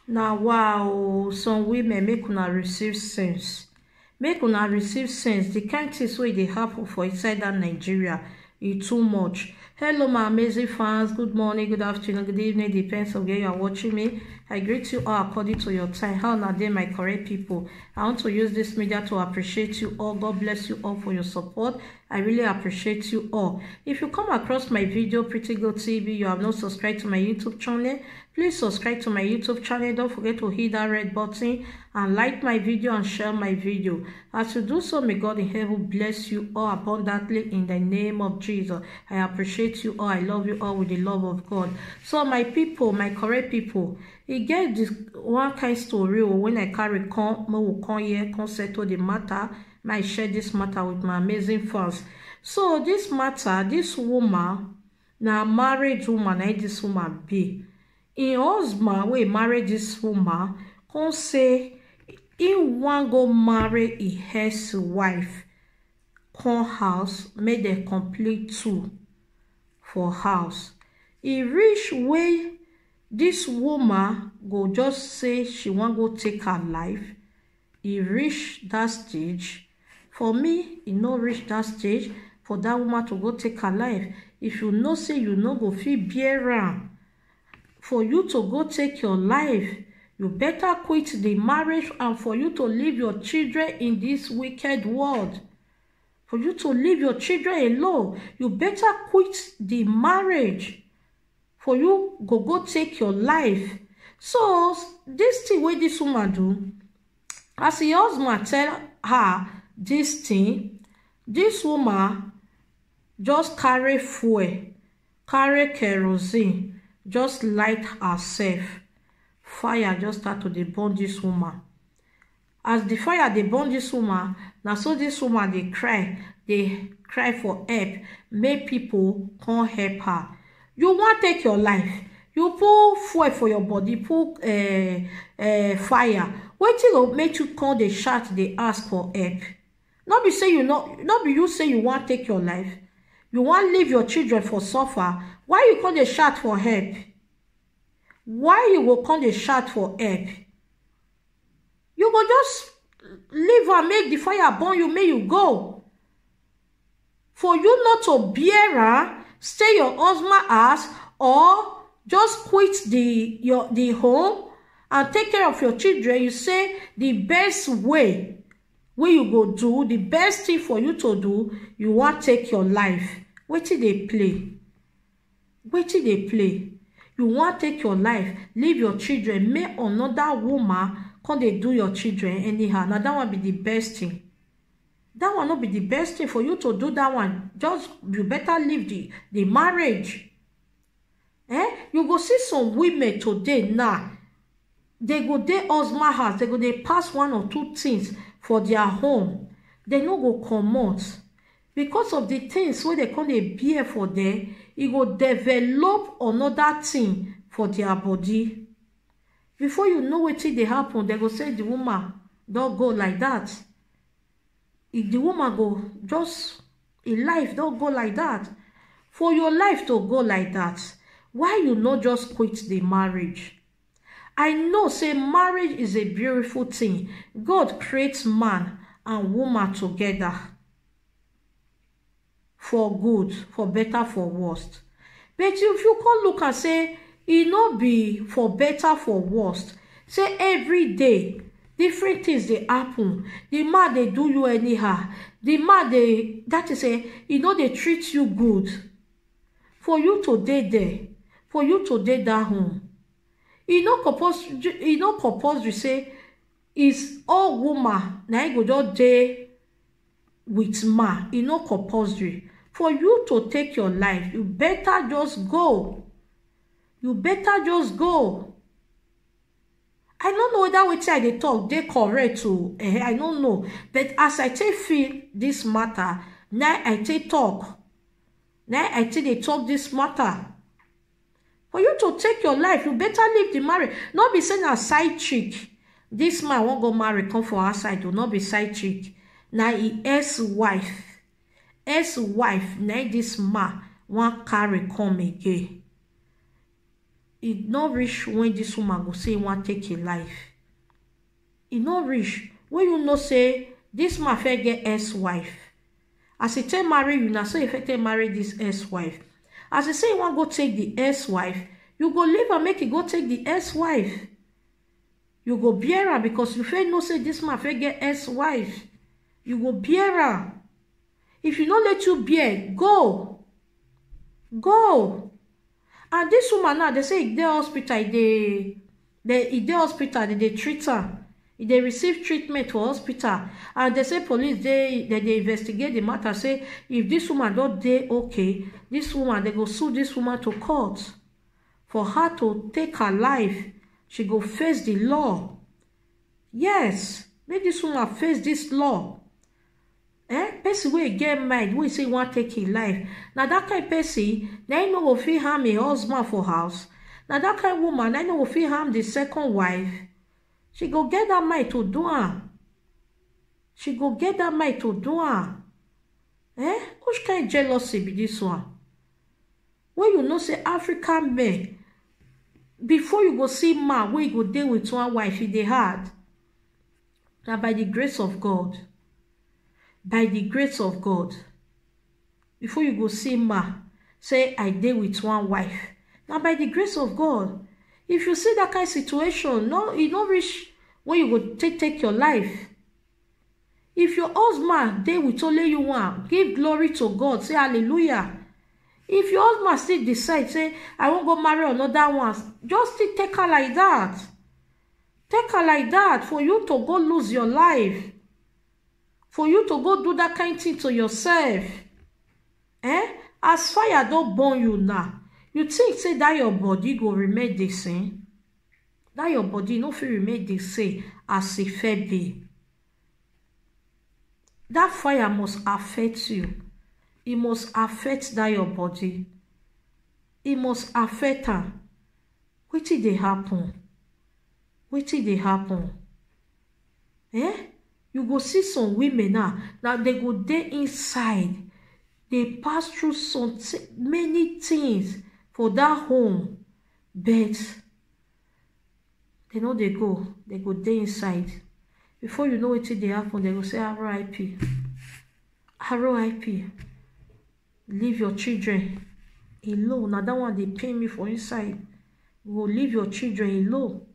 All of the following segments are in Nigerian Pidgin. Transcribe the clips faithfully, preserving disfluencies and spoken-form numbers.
Na wow, some women, make una receive sense. Make una receive sense. The kind things wey dey happen for inside that Nigeria, e too much. Hello, my amazing fans. Good morning, good afternoon, good evening. Depends on where you are watching me. I greet you all according to your time. How una dey, my correct people? I want to use this media to appreciate you all. God bless you all for your support. I really appreciate you all. If you come across my video, Pretty Girl T V, you have not subscribed to my YouTube channel, please subscribe to my YouTube channel. Don't forget to hit that red button and like my video and share my video. As you do so, may God in heaven bless you all abundantly in the name of Jesus. I appreciate you all. I love you all with the love of God. So my people, my correct people, e get this one kind story o, when I carry come, make we come here, come settle the matter. Make I share this matter with my amazing fans. So this matter, this woman, na married woman, na this woman be. Im husband wey marry this woman come say he wan go marry his ex-wife, come house, make dem complete two for house. E reach wey this woman go just say she wan go take her life. E reach that stage. For me, e no reach that stage for that woman to go take her life. If you know say you no go fit bear am, for you to go take your life, you better quit the marriage and for you to leave your children in this wicked world. For you to leave your children alone, you better quit the marriage. For you go go take your life. So this thing wey this woman do, as her husband tell her this thing, this woman just carry fuel, carry kerosene, just light herself. Fire just start to dey burn this woman. As the fire dey burn this woman, na so this woman dey cry, dey cry for help, make people come help her. You wan take your life, you put fuel for your body, put uh, uh, fire. Wetin go make you come dey shout, dey ask for help? No be say you no, no be you say you wan take your life. You wan leave your children for suffer. Why you come dey shout for help? Why you go come dey shout for help? You go just leave am, make the fire burn you, make you go. For you not to bear am, stay your husband house, or just quit the your the home and take care of your children. You say the best way wey you go do, the best thing for you to do, you wan take your life. Wetin dey play? Wetin dey play? You wan take your life, leave your children, make another woman come dey do your children anyhow. Na that one be the best thing. That one no be the best thing for you to do. That one, just you better leave the the marriage. Eh? You go see some women today now, they go dey husband house, they go dey pass one or two things for their home. They no go comot because of the things wey they come dey bear for there. E go develop another thing for their body. Before you know wetin dey happen, they go say the woman don go like that. If the woman go just, im life don go like that. For your life to go like that, why you no just quit the marriage? I know say marriage is a beautiful thing. God creates man and woman together for good, for better, for worst. But if you come look and say e no be for better, for worst, say every day different things dey happen. The man dey do you anyhow. The man dey, that is say, e no dey treat you good. For you to dey there, for you to dey that home, e no compulsory, e no compulsory say is all woman na im go just dey with man. E no compulsory. For you to take your life, you better just go. You better just go. I no know whether wetin I dey talk dey correct o. Eh, I no know. But as I take feel this matter, na I take talk. Na I take dey talk this matter. For you to take your life, you better leave the marriage. No be say na side chick this man wan go marry come for outside o. No be side chick. Na im ex-wife. Ex-wife na im this man wan carry come again. E no reach when this woman go say e wan take im life. E no reach when you know say this man fit get ex-wife. As e take marry you, na so e fit take marry this ex-wife. As e say e wan go take the ex-wife, you go leave am make e go take the ex-wife. You go bear am because you fit know say this man fit get ex-wife. You go bear am. If e no let you bear, go. Go. And this woman now, they say e dey hospital, e dey, they, e dey hospital, they dey treat her. E dey receive treatment for hospital. And they say police dey, they dey investigate the matter, say if this woman don dey okay, this woman, they go sue this woman to court. For her to take her life, she go face the law. Yes, make this woman face this law. Eh? Person wey get mind, wey say e wan take im life. Na that kind person, na im no go fit harm im husband for house. Na that kind woman, na im no go fit harm the second wife. She go get that mind to do am. She go get that mind to do am. Eh? Which kind jealousy be this one? When you know say African men, before you go see man wey go dey with one wife, e dey hard. Na by the grace of God. By the grace of God. Before you go see man say, "I dey with one wife." Na by the grace of God. If you see that kind situation, no, e no reach when you go take, take your life. If your husband dey with only you one, give glory to God, say hallelujah. If your husband still decide say, "I wan go marry another one," just still take her like that. Take her like that for you to go lose your life. For you to go do that kind thing to yourself. Eh? As fire don burn you now, you think say that your body go remain the same? That your body no fit remain the same as e fit be. That fire must affect you. E must affect that your body. E must affect am. Wetin dey happen? Wetin dey happen? Eh? You go see some women now, now they go dey inside, they pass through some thi-, many things for that home, but they no dey go, they go dey inside. Before you know wetin dey happen, they go say, "R I P, R I P, leave your children alone." Now that one dey pain me for inside. You go leave your children alone.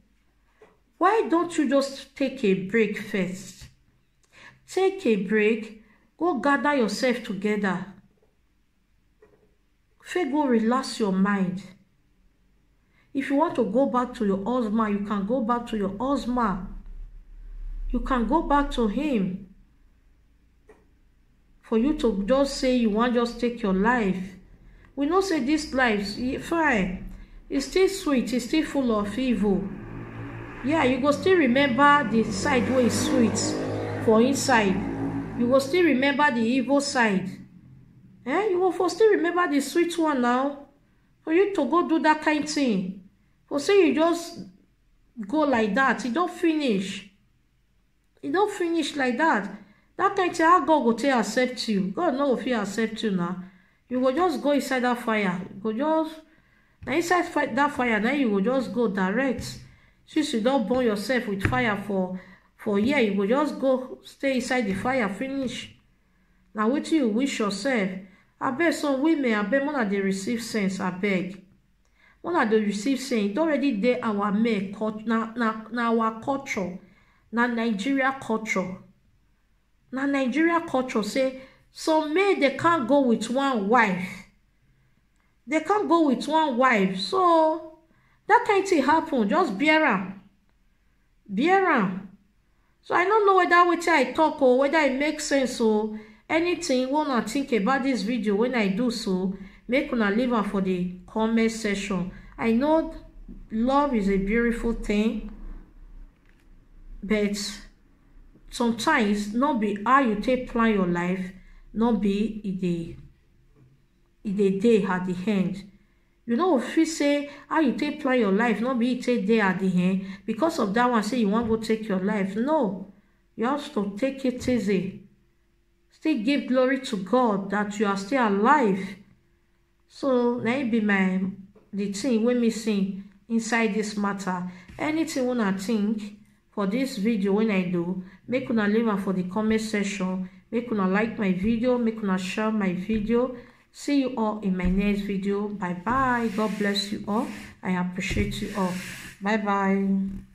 Why don't you just take a break first? Take a break, go gather yourself together. First, go relax your mind. If you want to go back to your husband, you can go back to your husband. You can go back to him. For you to just say you wan just take your life. We know say this life, e fine. E still sweet, e still full of evil. Yeah, you go still remember the side wey e sweet for inside. You go still remember the evil side. Eh? You go for still remember the sweet one now. For you to go do that kind thing. For say you just go like that, e don finish. E don finish like that. That kind thing, how God go take accept you? God no go fit accept you now. You go just go inside that fire. You go just, na inside fi-, that fire, now you go just go direct. Since you don burn yourself with fire for, for here, you go just go stay inside the fire finish. Na wetin you wish yourself. Abeg, some women, abeg, una dey receive sense, abeg. Una dey receive sense. It already dey our men cult-, na, na, na our culture. Na Nigeria culture. Na Nigeria culture say some men, they can't go with one wife. They can't go with one wife. So that kind thing happen. Just bear am. Bear am. So I no know whether wetin I talk o, whether e make sense o. Anything wey una think about this video when I do so, make una leave am for the comment section. I know love is a beautiful thing, but sometimes no be how you take plan your life, no be e dey, e dey dey at the end. You no go fit say how you take plan your life, no be e take dey at the end. Because of that one, say you wan go take your life. No, you have to take it easy. Still give glory to God that you are still alive. So na it be my, the thing wey me see inside this matter. Anything una think for this video when I do, make una leave am for the comment section. Make una like my video, make una share my video. See you all in my next video. Bye bye. God bless you all. I appreciate you all. Bye bye.